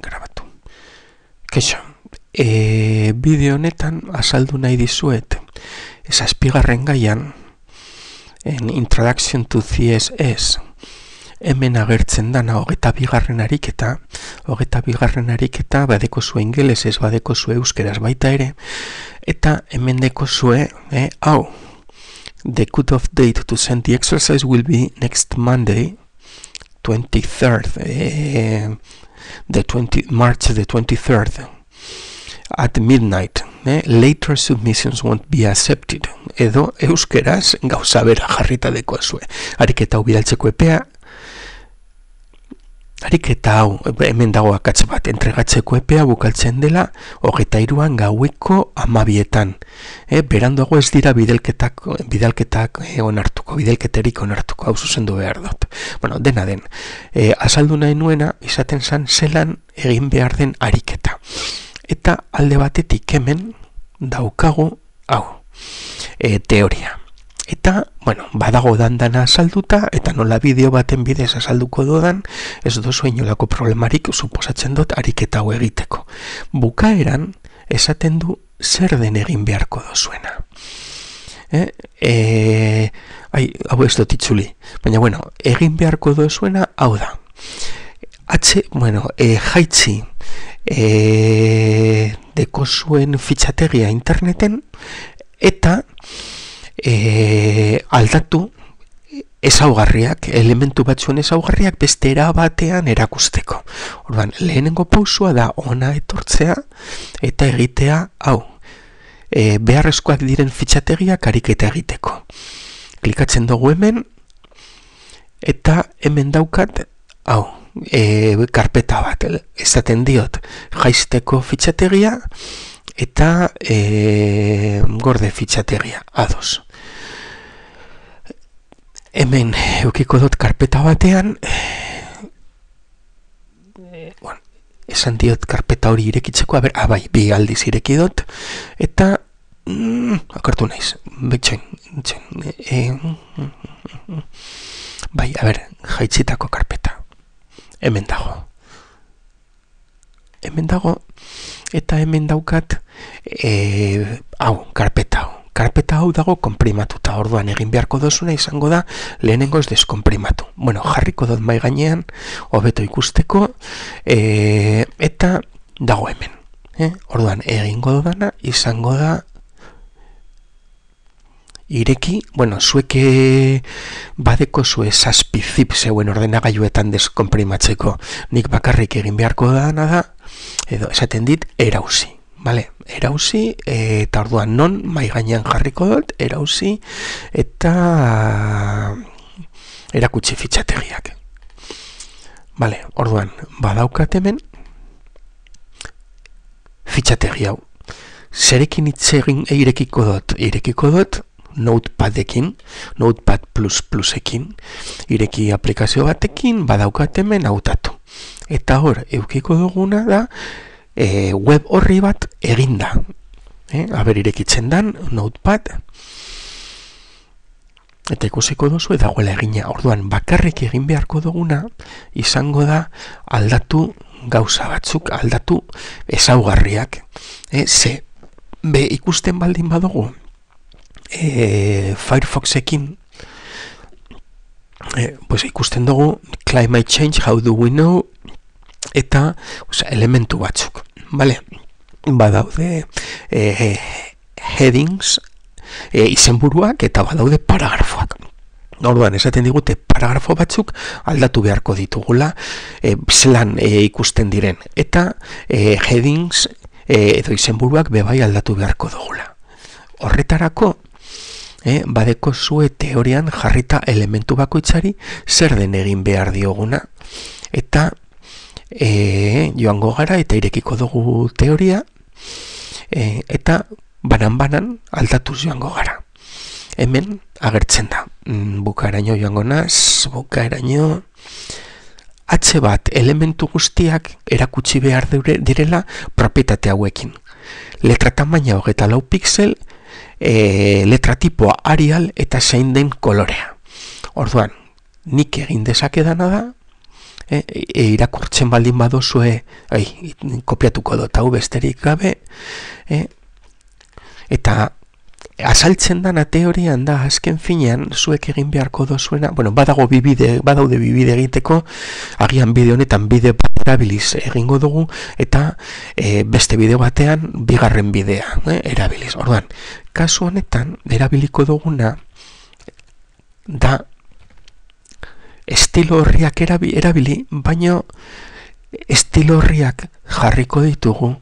grabatu. Keixo, bideo honetan azaldu nahi dizuet, zazpigarren gaian, en Introduction to CSS, hemen agertzen dana hogeita bigarren ariketa badeko zu ingelesez, badeko zu euskeraz baita ere, eta hemen deko zue, hau, the cut-off date to send the exercise will be next Monday, 23rd, March the 23rd, at midnight. Later submissions won't be accepted. Edo euskeraz gauza bera jarrita dekoa zue. Ariketa hau bidaltzeko epea, ariketa hau hemen dago akatz bat, entregatzeko epea bukaltzen dela 23an gaueko 12etan. Beranduago ez dira bidalketak onartuko, bidalketerik onartuko, hau zuzendu behar dut. Bueno, dena den, azaldu nahi nuena, izaten zan zelan egin behar den ariketa. Eta alde batetik hemen daukagu hau, teoria. Eta, bueno, badago dandana azalduta, eta nola bideo baten bidez azalduko dudan, ez dozu inolako problemarik suposatzen dut ariketa hau egiteko. Bukaeran, esaten du zer den egin beharko dozuena. Hau ez dut itzuli. Baina, bueno, egin beharko dozuena hau da. Jaitzi deko zuen fitxategia interneten eta aldatu ezaugarriak, elementu batzuen ezaugarriak beste era batean erakusteko. Orduan, lehenengo pausua da ona etortzea eta egitea hau. Beharrezkoak diren fitxategiak ariketa egiteko. Klikatzen dugu hemen eta hemen daukat hau. Karpeta bat, esaten diot jaisteko fitxategia eta gorde fitxategia, ados. Hemen eukiko dut karpeta batean, esan diot karpeta hori irekitzeko, bai, bi aldiz ireki dut, eta akartu naiz, bai, jaitzitako karpeta. Hemen dago, eta hemen daukat hau, karpeta hau dago konprimatuta. Orduan egin beharko dozuna izango da lehenengoz deskonprimatu. Bueno, jarriko dut mai gainean hobeto ikusteko, eta dago hemen. Orduan egingo dudana izango da ireki, bueno, zueke badeko zue zazpi zip zeuen ordenagailuetan deskonprimatzeko. Nik bakarrik egin beharko dana da, edo esaten dit, erauzi. Vale? Erauzi, eta orduan non mai gainean jarriko dut, erauzi, eta erakutsi fitxategiak. Vale, orduan, badaukat hemen fitxategi hau. Zerekin itzegin irekiko dut, Notepadekin, Notepad++ekin, ireki aplikazio batekin, badaukat hemen hautatu. Eta hor, eukiko duguna da, web horri bat eginda. Irekitzen dan, Notepad, eta ikusiko duzu dagoela egina. Orduan, bakarrik egin beharko duguna, izango da aldatu gauza batzuk, aldatu ezaugarriak. Ikusten baldin badugu, Firefoxekin ikusten dugu climate change, how do we know, eta elementu batzuk, vale? Badaude headings, izenburuak, eta badaude paragrafoak. Orduan, esaten digute paragrafo batzuk aldatu beharko ditugula, zelan ikusten diren, eta headings edo izenburuak bebai aldatu beharko dugula. Horretarako, badeko zue teorian jarrita elementu bakoitzari zer den egin behar dioguna, eta joango gara eta irekiko dugu teoria, eta banan aldatuz joango gara. Hemen agertzen da, bukaeraino joango naz, bukaeraino H bat elementu guztiak erakutsi behar direla propietate hauekin. Letra tamaina 24 pixel, letra tipoa Arial eta zein den kolorea. Orduan, nik egin dezakedana da, irakurtzen baldin badozue, kopiatuko dut hau besterik gabe, eta azaltzen dana teorian da, azken finean, zuek egin beharko dozuena, badaude bibide egiteko, agian bide honetan bide bat erabiliz egingo dugu, eta beste bide batean, bigarren bidea erabiliz. Orduan, kasu honetan, erabiliko duguna, da, estilo horriak erabili, baina estilo horriak jarriko ditugu,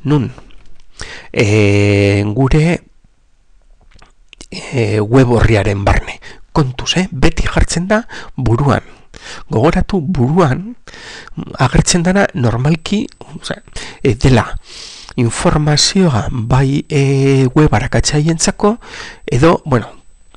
nun, gure web horriaren barne. Kontuz, beti jartzen da buruan. Gogoratu buruan agertzen dana normalki dela informazioa bai web arakatzaientzako edo,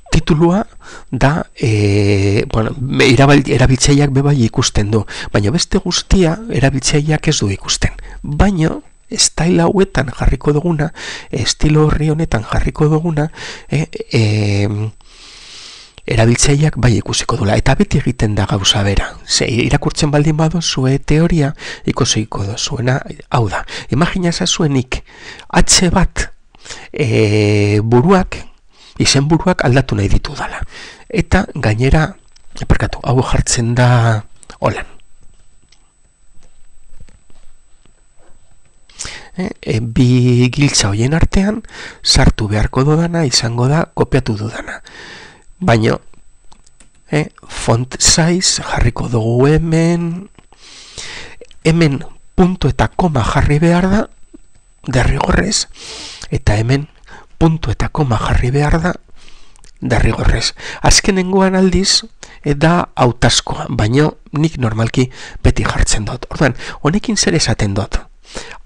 titulua da erabiltzaileak bebai ikusten du, baina beste guztia erabiltzaileak ez du ikusten. Baina style hauetan jarriko duguna, estilo horri honetan jarriko duguna, erabiltzaileak bai ikusiko dula. Eta beti egiten da gauza bera. Irakurtzen baldin badozue teoria, ikusiko dozuena, hau da. Imagina zazuenik, H bat izen buruak aldatu nahi ditu dala. Eta gainera, hau jartzen da holan. Bi giltza hoien artean sartu beharko dudana izango da kopiatu dudana. Baina font size jarriko dugu hemen punto eta koma jarri behar da derrigorrez, eta hemen punto eta koma jarri behar da derrigorrez. Azkenengoan aldiz da hautazkoa, baina nik normalki beti jartzen dut. Orduan, honekin zer esaten dut?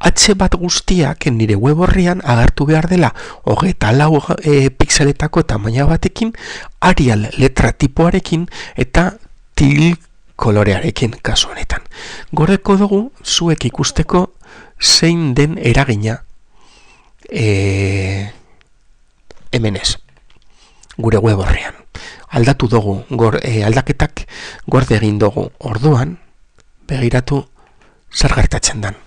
H bat guztiak nire web horrian agertu behar dela 24 pixeletako tamaina batekin, Arial letra tipoarekin eta til kolorearekin kasu honetan. Gordeko dugu zuek ikusteko zein den eragina hemen ez, gure web horrian. Aldatu dugu, aldaketak gorde egin dugu. Orduan, begiratu zer gertatzen dan.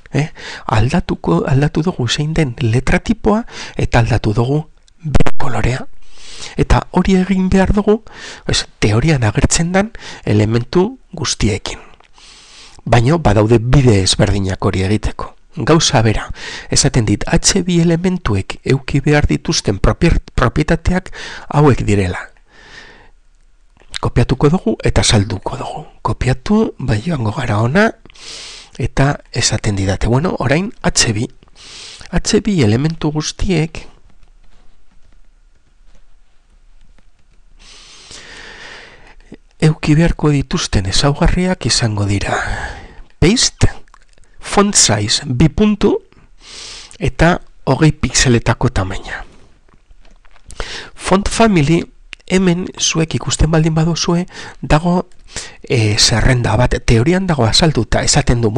Aldatu dugu zein den letra tipoa eta aldatu dugu kolorea. Eta hori egin behar dugu, teorian agertzen dan elementu guztiekin. Baina badaude bide ezberdinak hori egiteko. Gauza bera, esaten dit, H2 elementuek euki behar dituzten propietateak hauek direla. Kopiatuko dugu eta salduko dugu. Kopiatu, bai joango gara ona, eta esaten didate, orain H2 elementu guztiek euki beharko dituzten ezaugarriak izango dira paste, font size 2 puntu eta 20 pixeletako tamaina. Font family, hemen zuek ikusten baldin baduzue, dago zerrenda bat, teorian dago azalduta, esaten du,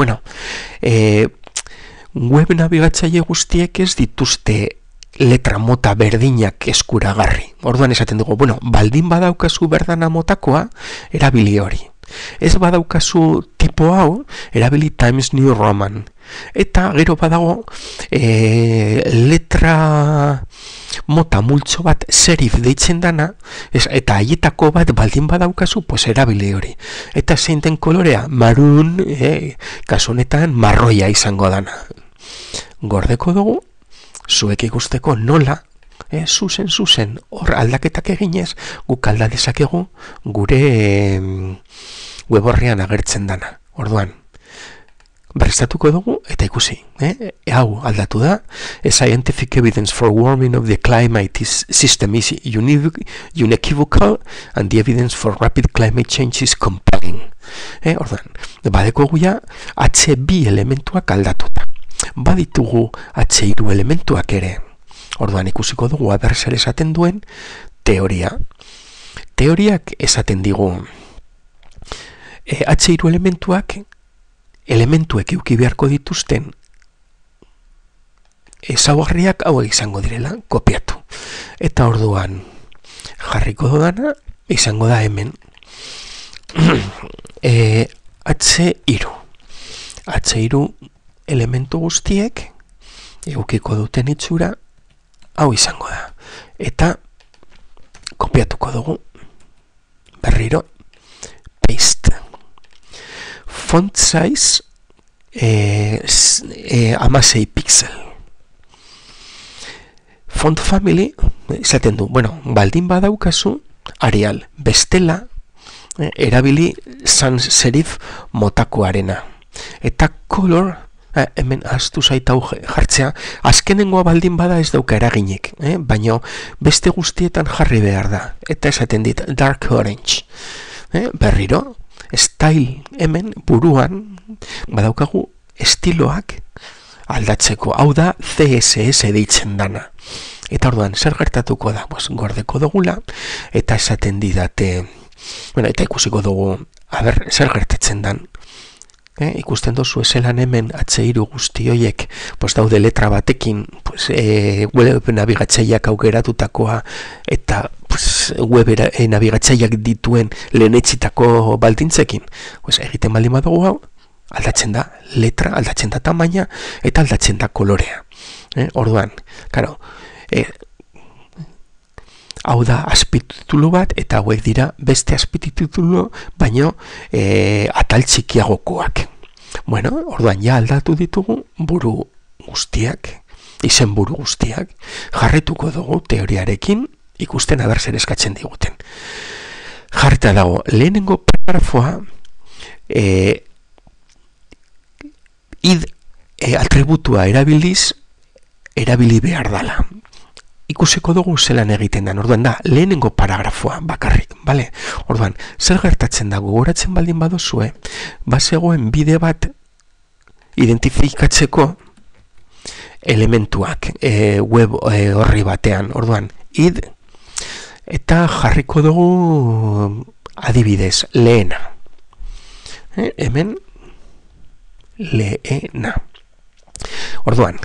web nabigatzaile guztiek ez dituzte letra mota berdinak eskuragarri. Orduan esaten dugu, baldin badaukazu berdana motakoa, erabili hori. Ez badaukazu tipo hau, erabili Times New Roman. Eta gero badago letra mota multzo bat serif deitzen dana, eta haietako bat baldin badaukazu, erabili hori. Eta zein den kolorea, marun, kasu honetan marroia izango dana. Gordeko dugu, zuek ikusteko nola, zuzen, hor aldaketak eginez, guk alda dezakegu gure web horrean agertzen dana. Orduan, berriztatuko dugu eta ikusi. Hau aldatu da, a scientific evidence for warming of the climate system is unequivocal and the evidence for rapid climate change is compelling. Orduan, badeko guia H2 elementuak aldatuta. Baditugu H3 elementuak ere. Orduan ikusiko dugu aber zer esaten duen teoria. Teoriak esaten digu H3 elementuek euki beharko dituzten ezaugarriak hauek izango direla, kopiatu. Eta orduan jarriko dudana izango da hemen H3. H3 elementu guztiek edukiko duten itxura hau izango da. Eta kopiatuko dugu. Berriro. Paste. Font size 16 pixel. Font family, izaten du, baldin badaukazu, Arial, bestela, erabili sans serif motakoarena. Eta color, hemen ahaztu zaitau jartzea, azkenengoa baldin bada ez dauka eraginik, baina beste guztietan jarri behar da. Eta esaten dit, dark orange. Berriro, style hemen buruan badaukagu estiloak aldatzeko. Hau da CSS deitzen dana. Eta orduan, zer gertatuko da? Gordeko dugula, eta esaten didate, eta ikusiko dugu, zer gertatzen dan. Ikusten dozu eselan hemen H3 guzti hoiek daude letra batekin web nabigatzaileak aukeratutakoa eta web nabigatzaileak dituen lehenetsitako baldintzekin. Egiten baldin badugu hau, aldatzen da letra, aldatzen da tamaina eta aldatzen da kolorea. Orduan, karo, hau da azpititulu bat, eta hauek dira beste azpititulu, baino atal txikiagokoak. Orduan ja aldatu ditugu buru guztiak, izen buru guztiak, jarrituko dugu teoriarekin, ikusten aber zer eskatzen diguten. Jarrita dago, lehenengo paragrafoa id atributua erabili behar dala. Ikusiko dugu zelan egiten da. Orduan da, lehenengo paragrafoa bakarrik, bale? Orduan, zer gertatzen da gogoratzen baldin badozue, bazegoen bide bat identifikatzeko elementuak web horri batean. Orduan, id eta jarriko dugu adibidez, lehena. Hemen, lehena. Orduan,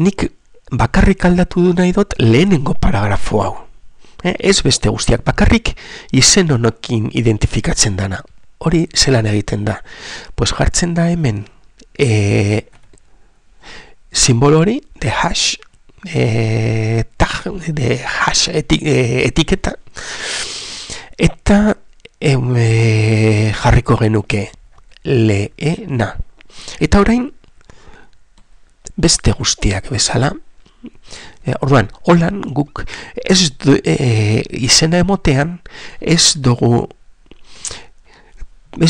nik bakarrik aldatu du nahi dut lehenengo paragrafo hau. Ez beste guztiak, bakarrik izen honekin identifikatzen dana. Hori zelan egiten da. Jartzen da hemen simbolo hori de hash tag, de hash etiketa, eta jarriko genuke lehena. Eta orain beste guztiak bezala. Orduan, holan guk izena emotean ez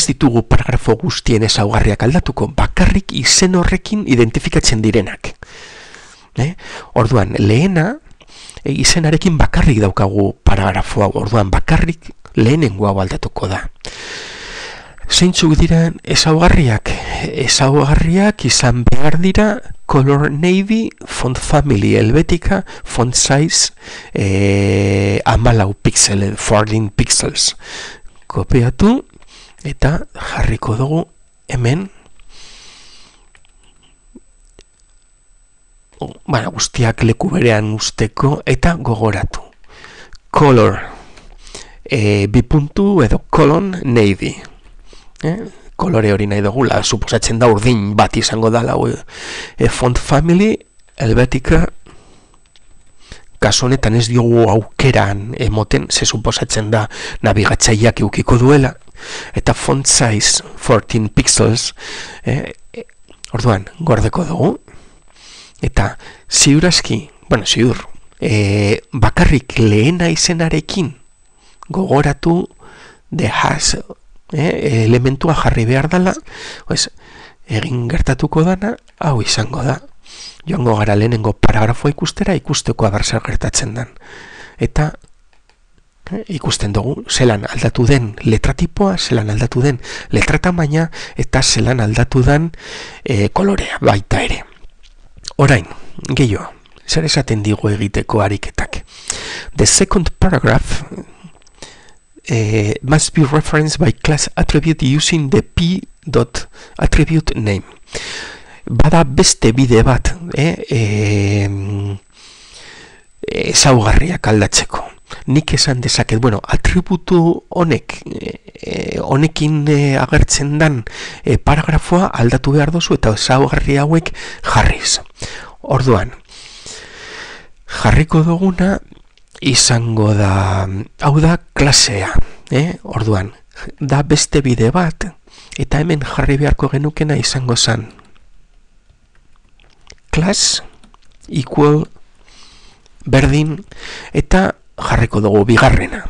ditugu paragrafo guztien ezaugarriak aldatuko, bakarrik izen horrekin identifikatzen direnak. Orduan, lehena izenarekin bakarrik daukagu paragrafo hau, orduan bakarrik lehenengo hau aldatuko da. Zeintzuk diren ezaugarriak? Ezaugarriak izan behar dira color navy, font family helvetica, font size 14 pixel, 14 pixels. Kopiatu eta jarriko dugu hemen guztiak leku berean usteko eta gogoratu. Color bipuntu edo colon navy. Kolore hori nahi dugula, suposatzen da urdin bat izango dala. Font family, helvetica, kasu honetan ez diogu aukeran emoten, ze suposatzen da nabigatzaileak eukiko duela, eta font size 14 pixels, orduan, gordeko dugu, eta ziurazki, ziur, bakarrik lehena izenarekin gogoratu de has elementua jarri behar dela, egin gertatuko dana, hau izango da. Joango gara lehenengo paragrafoa ikustera, ikusteko zer gertatzen den. Eta ikusten dugu, zelan aldatu den letratipoa, zelan aldatu den letratamaina, eta zelan aldatu den kolorea baita ere. Orain, gehiago, zer esaten digu egiteko ariketak. The second paragraph must be referenced by class attribute using the p.attribute name. Bada beste bide bat ezaugarriak aldatzeko. nik esan dezaket, bueno, atributu honekin agertzen dan paragrafoa aldatu behar dozu eta ezaugarri hauek jarriz. Orduan, jarriko duguna izango da, hau da klasea, orduan, da beste bide bat, eta hemen jarri beharko genukena izango zen class equal berdin eta jarriko dugu bigarrena.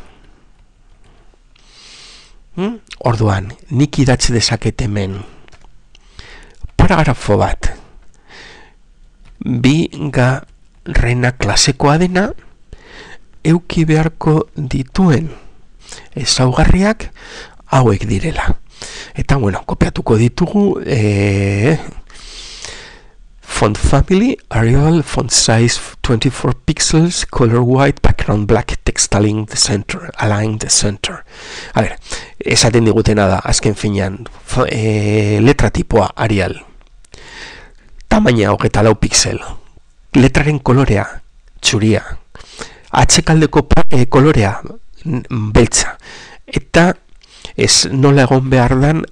Orduan, nik idatzi dezaket hemen paragrafo bat bigarrena klasekoa dena euki beharko dituen ezaugarriak hauek direla. Eta, bueno, kopiatuko ditugu font family, Arial, font size 24 pixels, color white, background black, text align the center. A ver, esaten digutena da, azken finean, letra tipoa Arial, tamaina 24 pixel, letraren kolorea, txuria, atxekaldeko kolorea, beltza, eta ez nola egon behar dan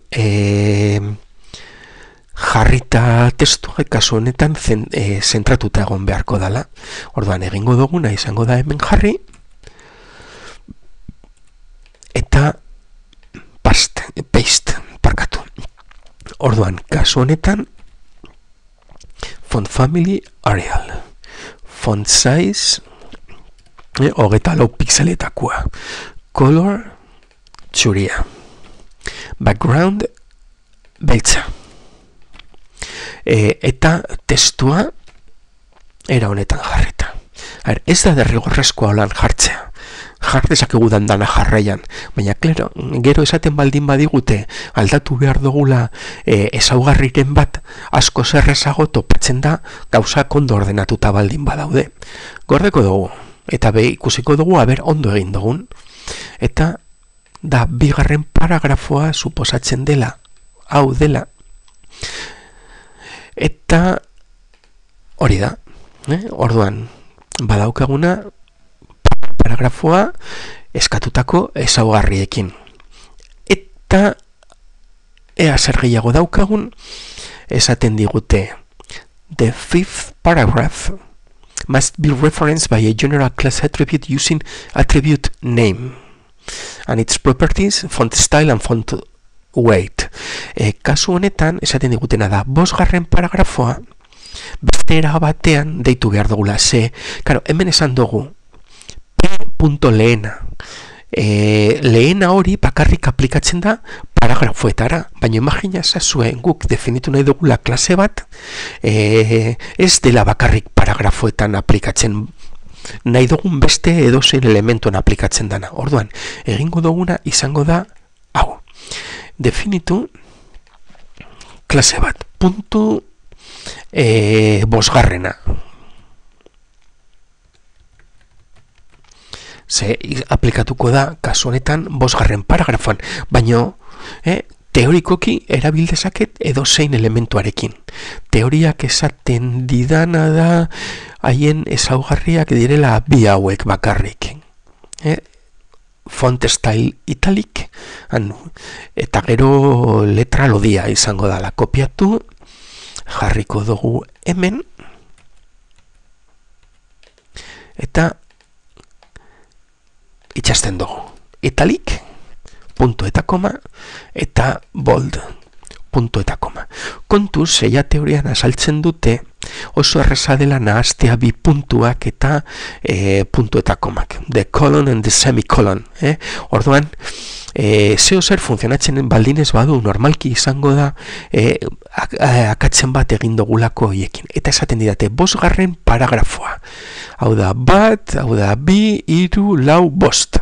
jarrita testua kasu honetan zentratuta egon beharko dala. Orduan egingo duguna izango da hemen jarri eta paste parkatu. Orduan kasu honetan font family Arial, font size 24 pixeletakoa, color txuria, background beltza, eta testua era honetan jarrita. Ez da derrigorrezkoa holan jartzea, dezakegu dana jarraian, baina klaro, gero esaten baldin badigute aldatu behar dugula ezaugarriren bat asko zerrezago topatzen da gauza ondo ordenatuta baldin badaude. Gordeko dugu, eta ikusiko dugu aber ondo egin dugun, eta da bigarren paragrafoa suposatzen dela, hau dela, eta hori da, orduan badaukaguna paragrafoa eskatutako ezaugarriekin. Eta ea zer gehiago daukagun, esaten digute the fifth paragraph must be referenced by a general class attribute using attribute name and its properties, font style and font weight. Kasu honetan, esaten digutena da, 5. paragrafoa beste era batean deitu behar dugula. Claro, hemen esan dugu P.lehena. Lehena hori bakarrik aplikatzen da paragrafoetara, baina imagina zazuen guk definitu nahi dugula klase bat, ez dela bakarrik paragrafoetan aplikatzen, nahi dugun beste edozein elementuan aplikatzen dana. Orduan, egingo duguna izango da hau. Definitu klase bat, puntu 5. Aplikatuko da kasu honetan 5. paragrafoan, baina teorikoki erabildezaket edozein elementuarekin. Teoriak esaten didana da haien ezaugarriak direla bi hauek bakarrik. Font style italic, eta gero letra lodia izango dala. Kopiatu, jarriko dugu hemen, eta itxasten dugu. Italic, punto eta koma, eta bold, punto eta koma. Kontuz, zeia teorian azaltzen dute, oso erreza dela nahaztea bi puntuak eta puntu eta komak. The colon and the semicolon. Orduan, zeo zer funtzionatzen baldinez badu, normalki izango da akatzen bat egin dugulako hoiekin. Eta esaten didate, 5. paragrafoa. Hau da bat, hau da bi, 3, 4, 5.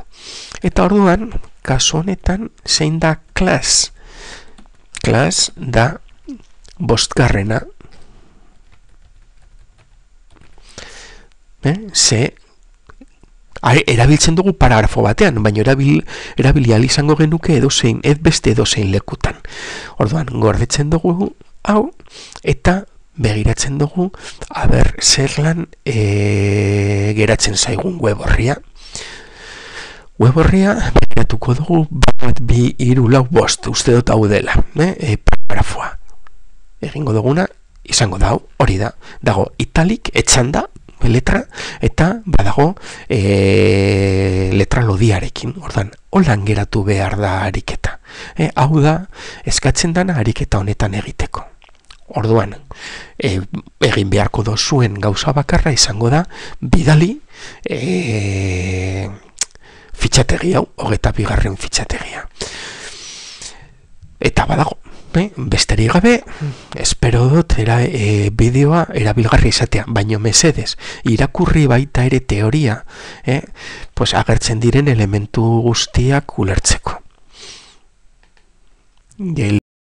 Eta orduan, kasu honetan, zein da class? Class da 5. Erabiltzen dugu paragrafo batean, baina erabili ahal izango genuke edozein, beste edozein lekutan. Orduan, gordetzen dugu hau, eta begiratzen dugu, aber zer lan geratzen zaigun web horria. web horria begiratuko dugu 1, 2, 3, 4, 5 uste dut hau dela, paragrafoa. Egingo duguna izango da hori da. Dago italik etxanda letra eta badago letra lodiarekin. Ordan, holan geratu behar da ariketa. Hau da eskatzen dana ariketa honetan egiteko. Orduan, egin beharko dozuen gauza bakarra izango da bidali fitxategi hau, 22. fitxategia. Eta badago, besterik gabe, espero dut bideoa erabilgarri izatea, baino mesedez, irakurri baita ere teoria, agertzen diren elementu guztiak ulertzeko.